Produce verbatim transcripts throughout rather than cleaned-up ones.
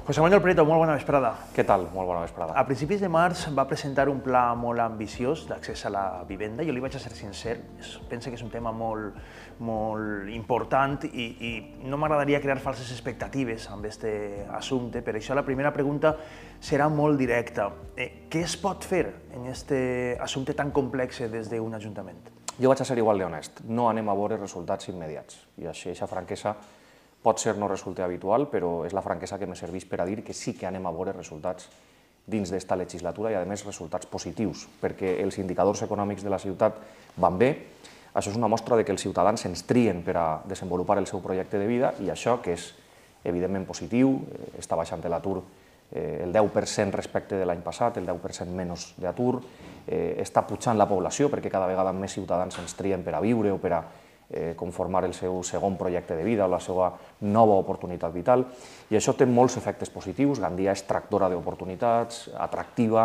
José Manuel Prieto, molt bona vesprada. Què tal? Molt bona vesprada. A principis de març va presentar un pla molt ambiciós d'accés a la vivenda. Jo li vaig a ser sincer, penso que és un tema molt, molt important i, i no m'agradaria crear falses expectatives amb aquest assumpte. Per això la primera pregunta serà molt directa. Eh, què es pot fer en aquest assumpte tan complex des d'un ajuntament? Jo vaig a ser igual d'honest. No anem a veure resultats immediats. I així, aquesta franquesa pot ser no resulti habitual, però és la franquesa que me serveix per a dir que sí que anem a veure resultats dins d'esta legislatura i, a més, resultats positius, perquè els indicadors econòmics de la ciutat van bé. Això és una mostra de que els ciutadans ens trien per a desenvolupar el seu projecte de vida i això, que és evidentment positiu, està baixant l'atur el deu per cent respecte de l'any passat, el deu per cent menys d'atur, està pujant la població perquè cada vegada més ciutadans ens trien per a viure o per a conformar el seu segon projecte de vida o la seva nova oportunitat vital, i això té molts efectes positius. Gandia és tractora d'oportunitats, atractiva,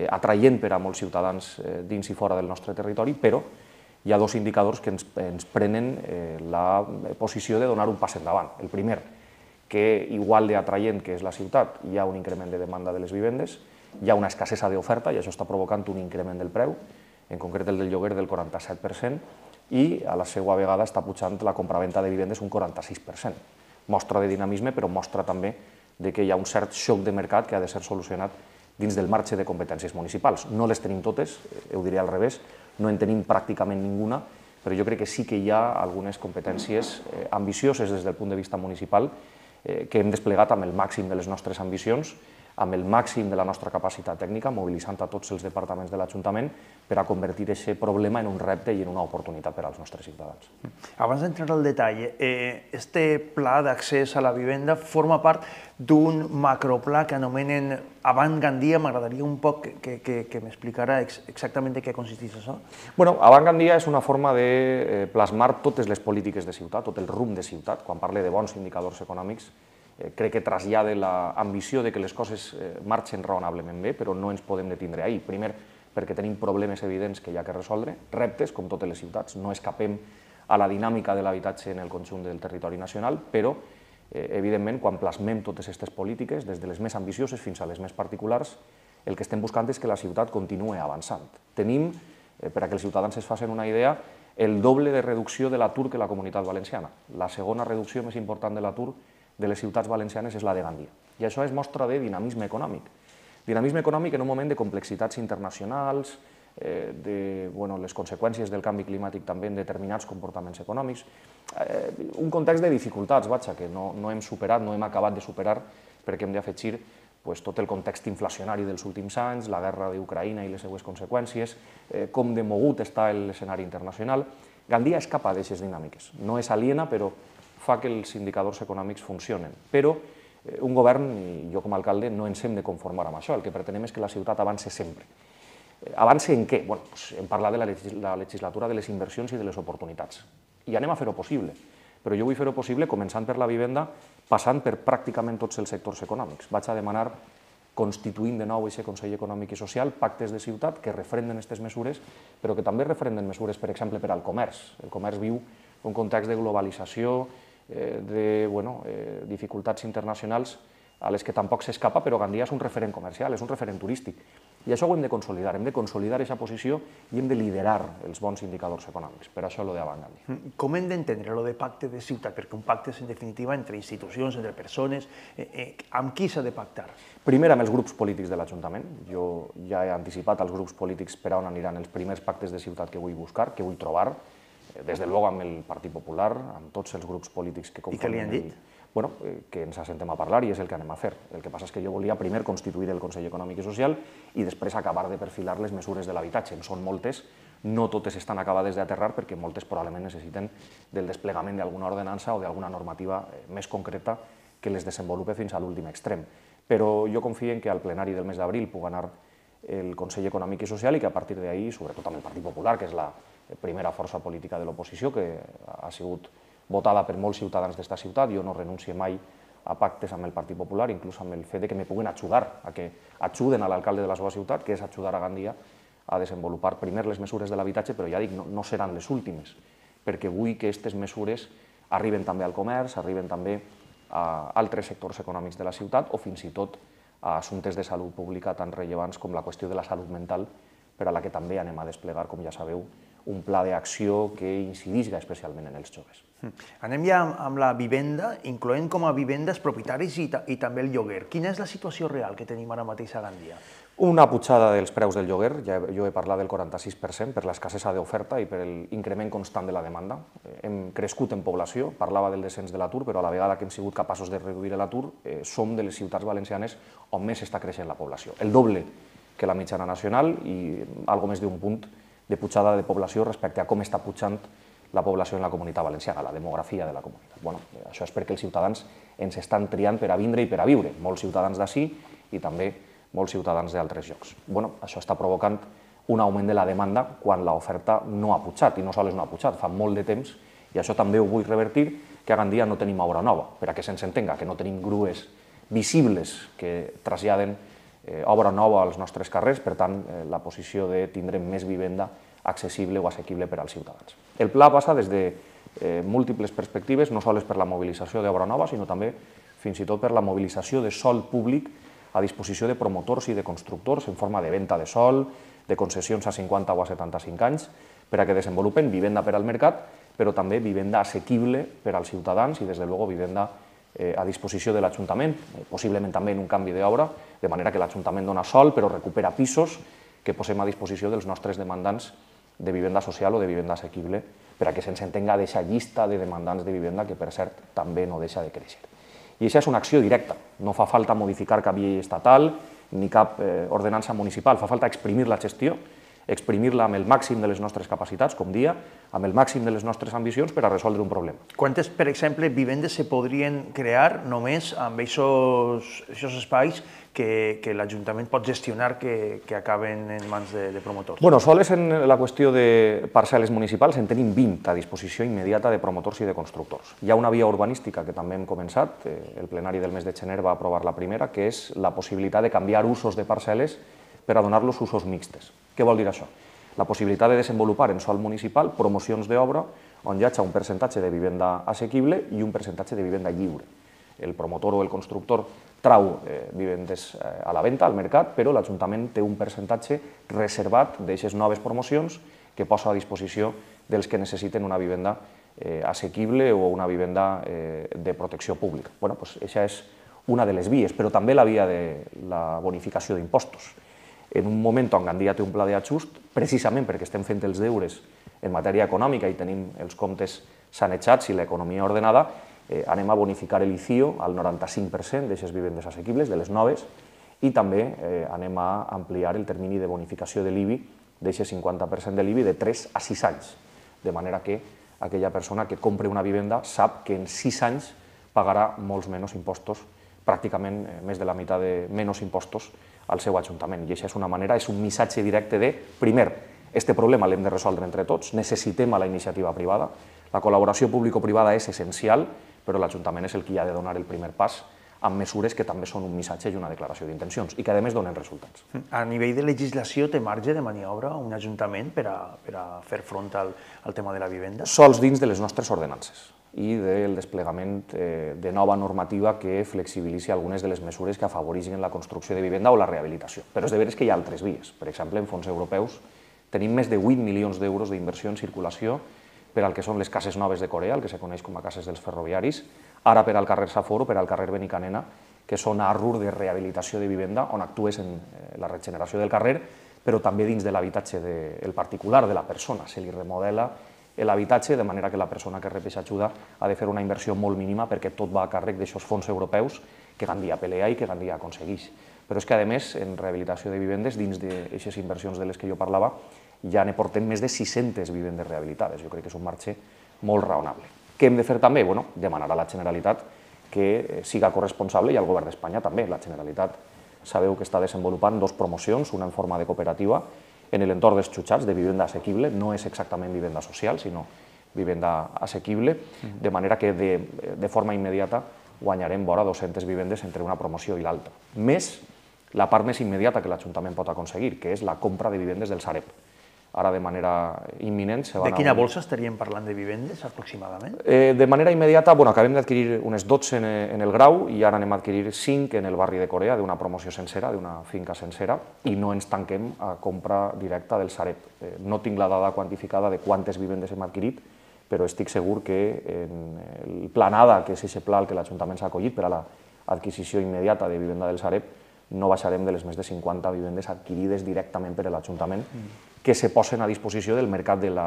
atraient per a molts ciutadans dins i fora del nostre territori, però hi ha dos indicadors que ens, ens prenen la posició de donar un pas endavant. El primer, que igual d'atraient que és la ciutat, hi ha un increment de demanda de les vivendes, hi ha una escassesa d'oferta i això està provocant un increment del preu, en concret el del lloguer del quaranta-set per cent, i a la seva vegada està pujant la compraventa de vivendes un quaranta-sis per cent. Mostra de dinamisme, però mostra també que hi ha un cert xoc de mercat que ha de ser solucionat dins del marge de competències municipals. No les tenim totes, ho diré al revés, no en tenim pràcticament ninguna, però jo crec que sí que hi ha algunes competències ambicioses des del punt de vista municipal que hem desplegat amb el màxim de les nostres ambicions, amb el màxim de la nostra capacitat tècnica, mobilitzant a tots els departaments de l'Ajuntament per a convertir aquest problema en un repte i en una oportunitat per als nostres ciutadans. Abans d'entrar al detall, este pla d'accés a la vivenda forma part d'un macropla que anomenen Avant Gandia. M'agradaria un poc que m'explicara exactament de què consisteix això. Bueno, Avant Gandia és una forma de plasmar totes les polítiques de ciutat, tot el rumb de ciutat. Quan parle de bons indicadors econòmics, crec que trasllada l'ambició de que les coses marxen raonablement bé, però no ens podem detindre ahir. Primer, perquè tenim problemes evidents que hi ha que resoldre, reptes, com totes les ciutats, no escapem a la dinàmica de l'habitatge en el conjunt del territori nacional, però, evidentment, quan plasmem totes aquestes polítiques, des de les més ambicioses fins a les més particulars, el que estem buscant és que la ciutat continuï avançant. Tenim, per a que els ciutadans es facin una idea, el doble de reducció de l'atur que la Comunitat Valenciana. La segona reducció més important de l'atur de les ciutats valencianes és la de Gandia. I això és mostra de dinamisme econòmic. Dinamisme econòmic en un moment de complexitats internacionals, de les conseqüències del canvi climàtic també en determinats comportaments econòmics, un context de dificultats, vaja, que no hem superat, no hem acabat de superar, perquè hem d'afegir tot el context inflacionari dels últims anys, la guerra d'Ucraïna i les seues conseqüències, com de mogut està l'escenari internacional. Gandia escapa d'aquestes dinàmiques. No és aliena, però fa que els indicadors econòmics funcionen. Però un govern, i jo com a alcalde, no ens hem de conformar amb això. El que pretenem és que la ciutat avance sempre. Avance en què? Hem parlat de la legislatura de les inversions i de les oportunitats. I anem a fer-ho possible. Però jo vull fer-ho possible començant per la vivenda, passant per pràcticament tots els sectors econòmics. Vaig a demanar, constituint de nou aquest Consell Econòmic i Social, pactes de ciutat que refrenden aquestes mesures, però que també refrenden mesures, per exemple, per al comerç. El comerç viu un context de globalització, de dificultats internacionals a les que tampoc s'escapa, però Gandia és un referent comercial, és un referent turístic. I això ho hem de consolidar, hem de consolidar aquesta posició i hem de liderar els bons indicadors econòmics. Per això lo d'Avant Gandia. Com hem d'entendre lo de pacte de ciutat? Perquè un pacte és, en definitiva, entre institucions, entre persones. Amb qui s'ha de pactar? Primer, amb els grups polítics de l'Ajuntament. Jo ja he anticipat als grups polítics per on aniran els primers pactes de ciutat que vull buscar, que vull trobar, des de luego amb el Partit Popular, amb tots els grups polítics que conformen... I què li han dit? Bueno, que ens assentem a parlar i és el que anem a fer. El que passa és que jo volia primer constituir el Consell Econòmic i Social i després acabar de perfilar les mesures de l'habitatge. En són moltes, no totes estan acabades d'aterrar perquè moltes probablement necessiten del desplegament d'alguna ordenança o d'alguna normativa més concreta que les desenvolupe fins a l'últim extrem. Però jo confio en que al plenari del mes d'abril pugui anar el Consell Econòmic i Social i que a partir d'ahir, sobretot amb el Partit Popular, que és la primera força política de l'oposició, que ha sigut votada per molts ciutadans d'esta ciutat, jo no renuncio mai a pactes amb el Partit Popular, inclús amb el fet que me puguin ajudar, a que ajuden a l'alcalde de la seva ciutat, que és ajudar a Gandia a desenvolupar primer les mesures de l'habitatge, però ja dic, no seran les últimes, perquè vull que aquestes mesures arriben també al comerç, arriben també a altres sectors econòmics de la ciutat o fins i tot a assumptes de salut pública tan rellevants com la qüestió de la salut mental, per a la que també anem a desplegar, com ja sabeu, un pla d'acció que incidisca especialment en els joves. Anem ja amb la vivenda, incloent com a vivendes propietaris i, i també el lloguer. Quina és la situació real que tenim ara mateix a Gandia? Una pujada dels preus del lloguer, ja jo he parlat del quaranta-sis per cent per l'escassesa d'oferta i per l'increment constant de la demanda. Hem crescut en població, parlava del descens de l'atur, però a la vegada que hem sigut capaços de reduir l'atur, eh, som de les ciutats valencianes on més està creixent la població. El doble que la mitjana nacional i algo més d'un punt de pujada de població respecte a com està pujant la població en la comunitat valenciana, la demografia de la comunitat. Bueno, això és perquè els ciutadans ens estan triant per a vindre i per a viure, molts ciutadans d'ací i també molts ciutadans d'altres llocs. Bueno, això està provocant un augment de la demanda quan l'oferta no ha pujat, i no sols no ha pujat, fa molt de temps, i això també ho vull revertir, que a Gandia no tenim obra nova, per a que se'ns entenga, que no tenim grues visibles que traslladen eh, obra nova als nostres carrers, per tant, eh, la posició de tindre més vivenda accessible o assequible per als ciutadans. El pla passa des de eh, múltiples perspectives, no sols per la mobilització d'obra nova, sinó també fins i tot per la mobilització de sòl públic a disposició de promotors i de constructors en forma de venda de sòl, de concessions a cinquanta o a setanta-cinc anys, per a que desenvolupen vivenda per al mercat, però també vivenda assequible per als ciutadans i, des de luego, vivenda eh, a disposició de l'Ajuntament, eh, possiblement també en un canvi d'obra, de manera que l'Ajuntament dona sòl però recupera pisos que posem a disposició dels nostres demandants de vivenda social o de vivenda assequible, per a que se'ns entenga d'aquesta llista de demandants de vivenda que, per cert, també no deixa de créixer. I això és una acció directa, no fa falta modificar cap llei estatal ni cap eh, ordenança municipal, fa falta exprimir la gestió, exprimir-la amb el màxim de les nostres capacitats, com dia, amb el màxim de les nostres ambicions per a resoldre un problema. Quantes, per exemple, vivendes se podrien crear només amb aquests espais que, que l'Ajuntament pot gestionar que, que acaben en mans de, de promotors? Bueno, sols en la qüestió de parcel·les municipals en tenim vint a disposició immediata de promotors i de constructors. Hi ha una via urbanística que també hem començat, el plenari del mes de gener va aprovar la primera, que és la possibilitat de canviar usos de parcel·les per a donar-los usos mixtes. Què vol dir això? La possibilitat de desenvolupar en sòl municipal promocions d'obra on hi hagi un percentatge de vivenda assequible i un percentatge de vivenda lliure. El promotor o el constructor trau eh, vivendes eh, a la venda, al mercat, però l'Ajuntament té un percentatge reservat d'aquestes noves promocions que posa a disposició dels que necessiten una vivenda eh, assequible o una vivenda eh, de protecció pública. Bueno, pues, això és una de les vies, però també la via de la bonificació d'impostos. En un moment on Gandia té un pla d'ajust, precisament perquè estem fent els deures en matèria econòmica i tenim els comptes sanejats i l'economia ordenada, eh, anem a bonificar l'I C I O al noranta-cinc per cent d'aquestes vivendes assequibles, de les noves, i també eh, anem a ampliar el termini de bonificació de l'I B I, d'aquest cinquanta per cent de l'I B I, de tres a sis anys, de manera que aquella persona que compre una vivenda sap que en sis anys pagarà molts menys impostos, pràcticament eh, més de la meitat de menys impostos al seu Ajuntament. I això és una manera, és un missatge directe de, primer, este problema l'hem de resoldre entre tots, necessitem a la iniciativa privada, la col·laboració público-privada és essencial, però l'Ajuntament és el qui ha de donar el primer pas amb mesures que també són un missatge i una declaració d'intencions i que, a més, donen resultats. A nivell de legislació, té marge de maniobra un Ajuntament per a, per a fer front al, al tema de la vivenda? Sols dins de les nostres ordenances i del desplegament eh, de nova normativa que flexibilitzi algunes de les mesures que afavoreixen la construcció de vivenda o la rehabilitació. Però és de veres que hi ha altres vies. Per exemple, en fons europeus tenim més de vuit milions d'euros d'inversió en circulació per al que són les cases noves de Corea, el que se coneix com a cases dels ferroviaris, ara per al carrer Safor o per al carrer Benicanena, que són arrur de rehabilitació de vivenda on actues en la regeneració del carrer, però també dins de l'habitatge del particular, de la persona. Se li remodela l'habitatge de manera que la persona que rep aquesta ajuda ha de fer una inversió molt mínima perquè tot va a càrrec d'aixòs fons europeus que Gandia pelea i que Gandia aconsegueix. Però és que, a més, en rehabilitació de vivendes, dins d'aquestes inversions de les que jo parlava, ja ne portem més de sis-centes vivendes rehabilitades. Jo crec que és un marge molt raonable. Què hem de fer també? Bueno, demanar a la Generalitat que siga corresponsable i al Govern d'Espanya també. La Generalitat sabeu que està desenvolupant dos promocions, una en forma de cooperativa, en l'entorn dels xutxats de vivenda assequible, no és exactament vivenda social, sinó vivenda assequible, de manera que de, de forma immediata guanyarem vora dues-centes vivendes entre una promoció i l'altra. Més la part més immediata que l'Ajuntament pot aconseguir, que és la compra de vivendes del Sareb. ara de manera imminent. De quina bolsa estaríem parlant de vivendes, aproximadament? De manera immediata, bueno, acabem d'adquirir unes dotze en el Grau i ara anem a adquirir cinc en el barri de Corea, d'una promoció sencera, d'una finca sencera, i no ens tanquem a compra directa del Sareb. No tinc la dada quantificada de quantes vivendes hem adquirit, però estic segur que en el Planada, que és aquest pla al que l'Ajuntament s'ha acollit per a l'adquisició immediata de vivenda del Sareb, no baixarem de les més de cinquanta vivendes adquirides directament per l'Ajuntament que se posen a disposició del mercat del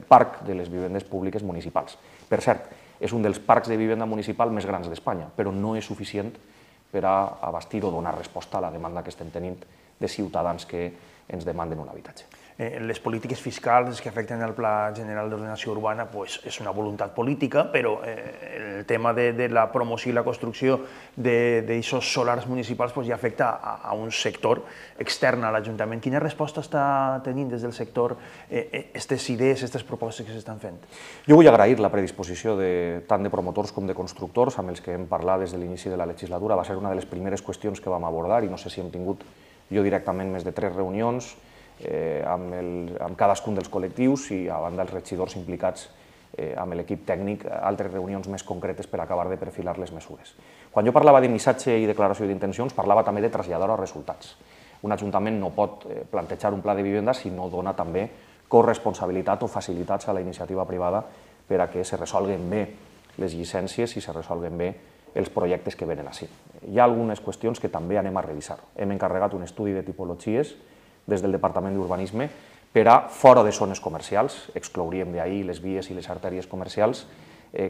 parc de les vivendes públiques municipals. Per cert, és un dels parcs de vivenda municipal més grans d'Espanya, però no és suficient per a abastir o donar resposta a la demanda que estem tenint de ciutadans que ens demanden un habitatge. Les polítiques fiscals que afecten el Pla General d'Ordenació Urbana és una voluntat política, però el tema de la promoció i la construcció d'aixòs solars municipals ja afecta a un sector extern a l'Ajuntament. Quina resposta està tenint des del sector aquestes idees, aquestes propostes que s'estan fent? Jo vull agrair la predisposició tant de promotors com de constructors amb els que hem parlat des de l'inici de la legislatura. Va ser una de les primeres qüestions que vam abordar i no sé si hem tingut jo directament més de tres reunions amb cadascun dels col·lectius i a banda els regidors implicats amb l'equip tècnic, altres reunions més concretes per acabar de perfilar les mesures. Quan jo parlava de missatge i declaració d'intencions, parlava també de traslladar-ho a resultats. Un ajuntament no pot plantejar un pla de vivenda si no dona també corresponsabilitat o facilitats a la iniciativa privada per a que se resolguen bé les llicències i se resolguen bé els projectes que venen així. Hi ha algunes qüestions que també anem a revisar. Hem encarregat un estudi de tipologies des del Departament d'Urbanisme per a, fora de zones comercials, exclouríem d'ahir les vies i les artèries comercials,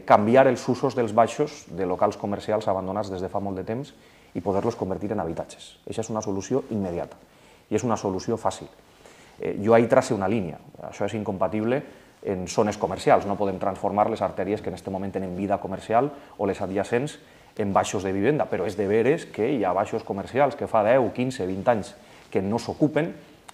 canviar els usos dels baixos de locals comercials abandonats des de fa molt de temps i poder-los convertir en habitatges. Això és una solució immediata i és una solució fàcil. Jo ahir trace una línia, això és incompatible en zones comercials, no podem transformar les artèries que en aquest moment tenen vida comercial o les adjacents en baixos de vivenda, però és de veres que hi ha baixos comercials que fa deu, quinze, vint anys que no s'ocupen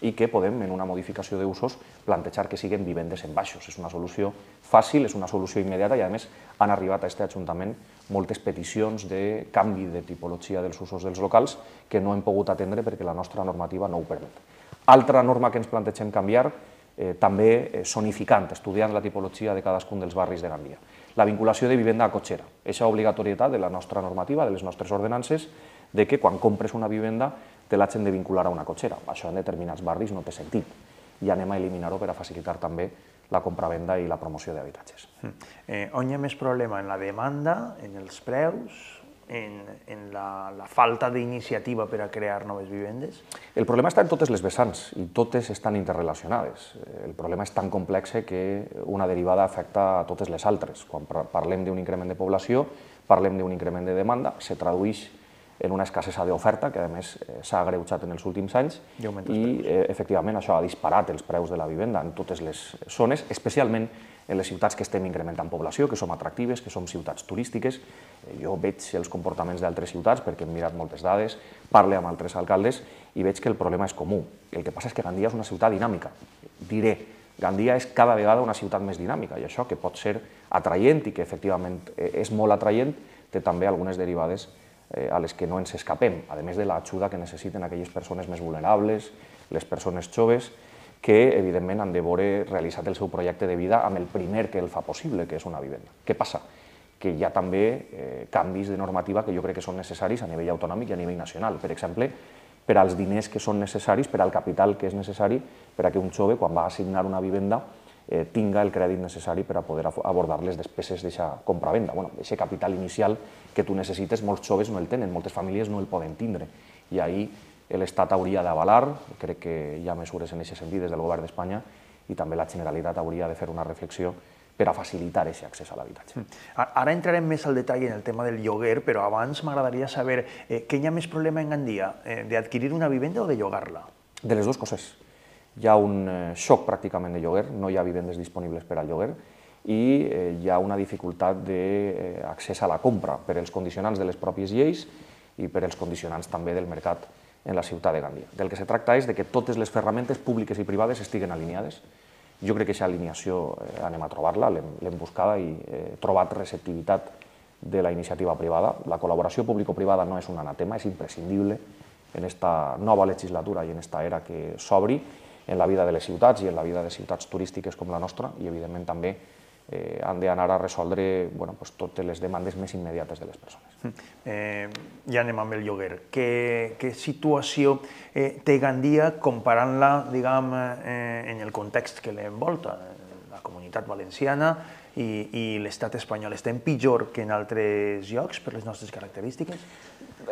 i que podem, en una modificació d'usos, plantejar que siguin vivendes en baixos. És una solució fàcil, és una solució immediata i, a més, han arribat a aquest Ajuntament moltes peticions de canvi de tipologia dels usos dels locals que no hem pogut atendre perquè la nostra normativa no ho permet. Altra norma que ens plantegem canviar, també zonificant, estudiant la tipologia de cadascun dels barris de Gandia. La vinculació de vivenda a cotxera. Aquesta obligatorietat de la nostra normativa, de les nostres ordenances, de que quan compres una vivenda te l'hagin de vincular a una cotxera. Això en determinats barris no té sentit i anem a eliminar-ho per a facilitar també la compravenda i la promoció d'habitatges. On hi ha més problema? En la demanda, en els preus, en la falta d'iniciativa per a crear noves vivendes? El problema està en totes les vessants i totes estan interrelacionades. El problema és tan complex que una derivada afecta a totes les altres. Quan parlem d'un increment de població, parlem d'un increment de demanda, se tradueix en una escassesa d'oferta, que a més s'ha agreujat en els últims anys, i efectivament això ha disparat els preus de la vivenda en totes les zones, especialment en les ciutats que estem incrementant població, que som atractives, que som ciutats turístiques. Jo veig els comportaments d'altres ciutats, perquè hem mirat moltes dades, parlo amb altres alcaldes, i veig que el problema és comú. El que passa és que Gandia és una ciutat dinàmica. Diré, Gandia és cada vegada una ciutat més dinàmica, i això que pot ser atraient i que efectivament és molt atraient, té també algunes derivades a les que no ens escapem, a més de l'ajuda que necessiten aquelles persones més vulnerables, les persones joves, que evidentment han de veure realitzat el seu projecte de vida amb el primer que el fa possible, que és una vivenda. Què passa? Que hi ha també canvis de normativa que jo crec que són necessaris a nivell autonòmic i a nivell nacional. Per exemple, per als diners que són necessaris, per al capital que és necessari, per a que un jove, quan va assignar una vivenda, tinga el crèdit necessari per a poder abordar les despeses d'aquesta compravenda. Aquest capital inicial que tu necessites, molts joves no el tenen, moltes famílies no el poden tindre. I ahir l'Estat hauria d'avalar, crec que hi ha mesures en aquest sentit des del govern d'Espanya, i també la Generalitat hauria de fer una reflexió per a facilitar aquest accés a l'habitatge. Ara entrarem més al detall en el tema del lloguer, però abans m'agradaria saber què hi ha més problema en Gandia, d'adquirir una vivenda o de llogar-la? De les dues coses. Hi ha un xoc pràcticament de lloguer, no hi ha vivendes disponibles per al lloguer i hi ha una dificultat d'accés a la compra per als condicionants de les pròpies lleis i per als condicionants també del mercat en la ciutat de Gandia. Del que se tracta és que totes les ferramentes públiques i privades estiguen alineades. Jo crec que aquesta alineació anem a trobar-la, l'hem buscada i he trobat receptivitat de la iniciativa privada. La col·laboració público-privada no és un anatema, és imprescindible en aquesta nova legislatura i en aquesta era que s'obri. en la vida de les ciutats i en la vida de ciutats turístiques com la nostra, i evidentment també eh, han d'anar a resoldre bueno, pues, totes les demandes més immediates de les persones. Eh, ja anem amb el lloguer. Què, què situació eh, té Gandia comparant-la, diguem, eh, en el context que l'envolta, la Comunitat Valenciana i, i l'estat espanyol? Estem pitjor que en altres llocs per les nostres característiques?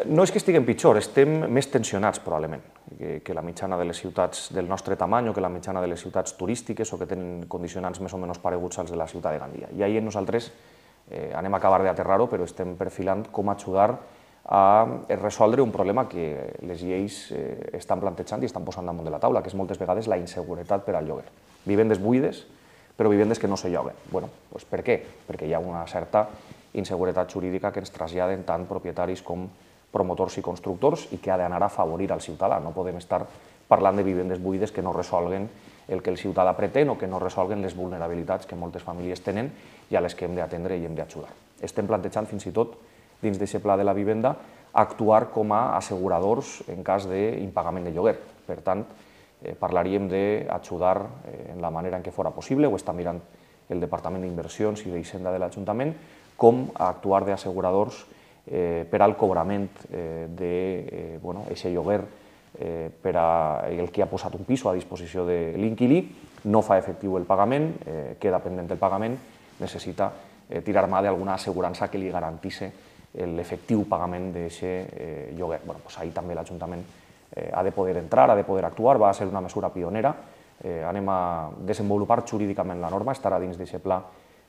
No és que estiguem pitjor, estem més tensionats probablement que, que la mitjana de les ciutats del nostre tamany o que la mitjana de les ciutats turístiques o que tenen condicionants més o menys pareguts als de la ciutat de Gandia. I ahir nosaltres eh, anem a acabar d'aterrar-ho, però estem perfilant com ajudar a resoldre un problema que les lleis eh, estan plantejant i estan posant damunt de la taula, que és moltes vegades la inseguretat per al lloguer. Vivendes buides, però vivendes que no se lloguen. Bueno, doncs per què? Perquè hi ha una certa inseguretat jurídica que ens traslladen tant propietaris com promotors i constructors i que ha d'anar a afavorir al ciutadà. No podem estar parlant de vivendes buides que no resolguen el que el ciutadà pretén o que no resolguen les vulnerabilitats que moltes famílies tenen i a les que hem d'atendre i hem d'ajudar. Estem plantejant fins i tot, dins d'aquest pla de la vivenda, actuar com a asseguradors en cas d'impagament de lloguer. Per tant, eh, parlaríem d'ajudar eh, en la manera en què fora possible, ho està mirant el Departament d'Inversions i d'Hisenda de l'Ajuntament, com a actuar d'asseguradors Eh, per al cobrament eh, de eh, bueno, eixe lloguer eh, per a el que ha posat un piso a disposició de l'inquilí, no fa efectiu el pagament, eh, queda pendent el pagament, necessita eh, tirar mà d'alguna assegurança que li garantisse l'efectiu pagament d'aquest eh, lloguer. Bueno, pues ahí també l'Ajuntament eh, ha de poder entrar, ha de poder actuar, va ser una mesura pionera, eh, anem a desenvolupar jurídicament la norma, estarà dins d'aquest pla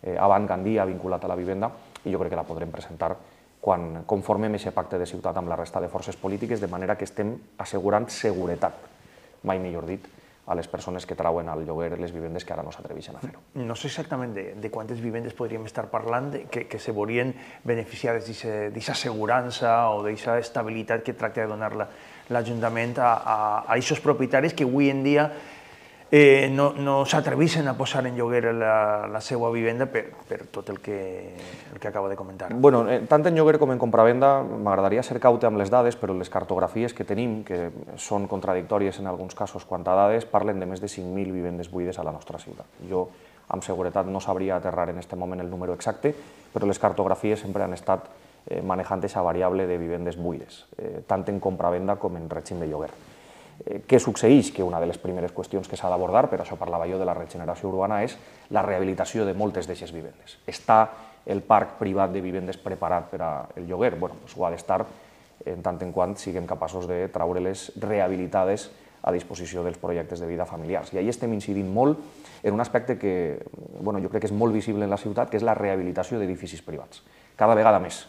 eh, Avant Gandia vinculat a la vivenda i jo crec que la podrem presentar quan conformem aquest pacte de ciutat amb la resta de forces polítiques, de manera que estem assegurant seguretat, mai millor dit, a les persones que trauen al lloguer les vivendes que ara no s'atreveixen a fer-ho. No sé exactament de, de quantes vivendes podríem estar parlant de, que, que se veurien beneficiades d'aquesta assegurança o d'aquesta estabilitat que tracta de donar l'Ajuntament a, a, a aquests propietaris que avui en dia Eh, no, no s'atreveixen a posar en lloguer la, la seva vivenda per, per tot el que, el que acaba de comentar. Bueno, eh, tant en lloguer com en compravenda m'agradaria ser caute amb les dades, però les cartografies que tenim, que són contradictòries en alguns casos quant a dades, parlen de més de cinc mil vivendes buides a la nostra ciutat. Jo, amb seguretat, no sabria aterrar en aquest moment el número exacte, però les cartografies sempre han estat eh, manejant aquesta variable de vivendes buides, eh, tant en compravenda com en règim de lloguer. Què succeeix? Que una de les primeres qüestions que s'ha d'abordar, per això parlava jo de la regeneració urbana, és la rehabilitació de moltes d'aquestes vivendes. Està el parc privat de vivendes preparat per al lloguer? Bé, doncs ho ha d'estar en tant en quant siguem capaços de treure-les rehabilitades a disposició dels projectes de vida familiars. I ahí estem incidint molt en un aspecte que bueno, jo crec que és molt visible en la ciutat, que és la rehabilitació d'edificis privats. Cada vegada més,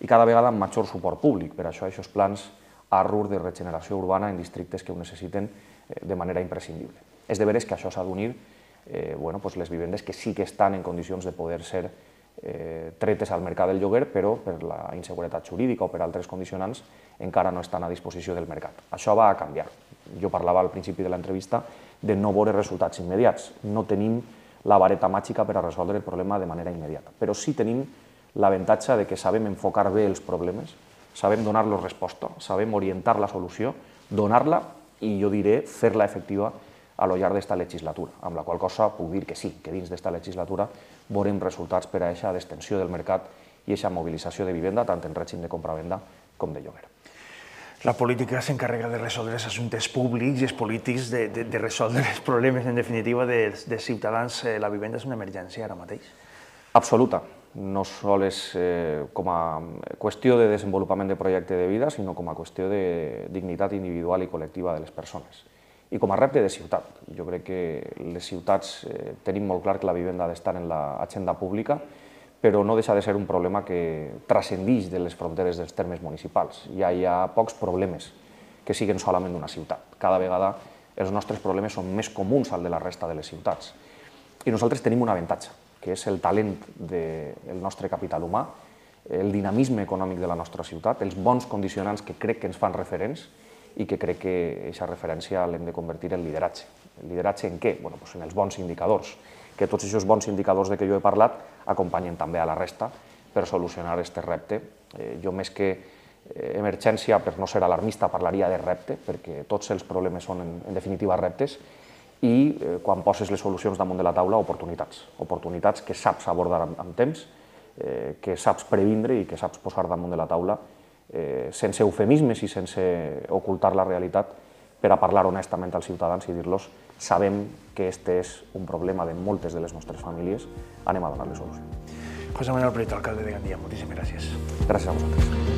i cada vegada amb major suport públic. Per això aquests plans A R U R de regeneració urbana en districtes que ho necessiten de manera imprescindible. És de veres que això s'ha d'unir eh, bueno, pues les vivendes que sí que estan en condicions de poder ser eh, tretes al mercat del lloguer, però per la inseguretat jurídica o per altres condicionants encara no estan a disposició del mercat. Això va a canviar. Jo parlava al principi de l'entrevista de no veure resultats immediats. No tenim la vareta màgica per a resoldre el problema de manera immediata, però sí tenim l'avantatge de que sabem enfocar bé els problemes, sabem donar-los resposta, sabem orientar la solució, donar-la i jo diré fer-la efectiva a lo llarg d'esta legislatura, amb la qual cosa puc dir que sí, que dins d'esta legislatura veurem resultats per a aquesta extensió del mercat i aquesta mobilització de vivenda, tant en règim de compravenda com de lloguer. La política s'encarrega de resoldre els assumptes públics i els polítics de, de, de resoldre els problemes, en definitiva, dels, dels ciutadans. La vivenda és una emergència ara mateix? Absoluta. No sols eh, com a qüestió de desenvolupament de projecte de vida, sinó com a qüestió de dignitat individual i col·lectiva de les persones. I com a repte de ciutat. Jo crec que les ciutats eh, tenim molt clar que la vivenda ha d'estar en l'agenda pública, però no deixa de ser un problema que transcendeix de les fronteres dels termes municipals. Ja hi ha pocs problemes que siguen solament d'una ciutat. Cada vegada els nostres problemes són més comuns al de la resta de les ciutats. I nosaltres tenim un avantatge, que és el talent del nostre capital humà, el dinamisme econòmic de la nostra ciutat, els bons condicionants que crec que ens fan referents i que crec que aquesta referència l'hem de convertir en lideratge. El lideratge en què? Bueno, doncs en els bons indicadors, que tots aquests bons indicadors de què jo he parlat acompanyen també a la resta per solucionar aquest repte. Eh, jo més que emergència, per no ser alarmista, parlaria de repte, perquè tots els problemes són en, en definitiva reptes, i eh, quan poses les solucions damunt de la taula, oportunitats. Oportunitats que saps abordar amb, amb temps, eh, que saps previndre i que saps posar damunt de la taula eh, sense eufemismes i sense ocultar la realitat, per a parlar honestament als ciutadans i dir-los sabem que este és un problema de moltes de les nostres famílies, anem a donar-li solució. José Manuel Prieto, alcalde de Gandia, moltíssimes gràcies. Gràcies a vosaltres.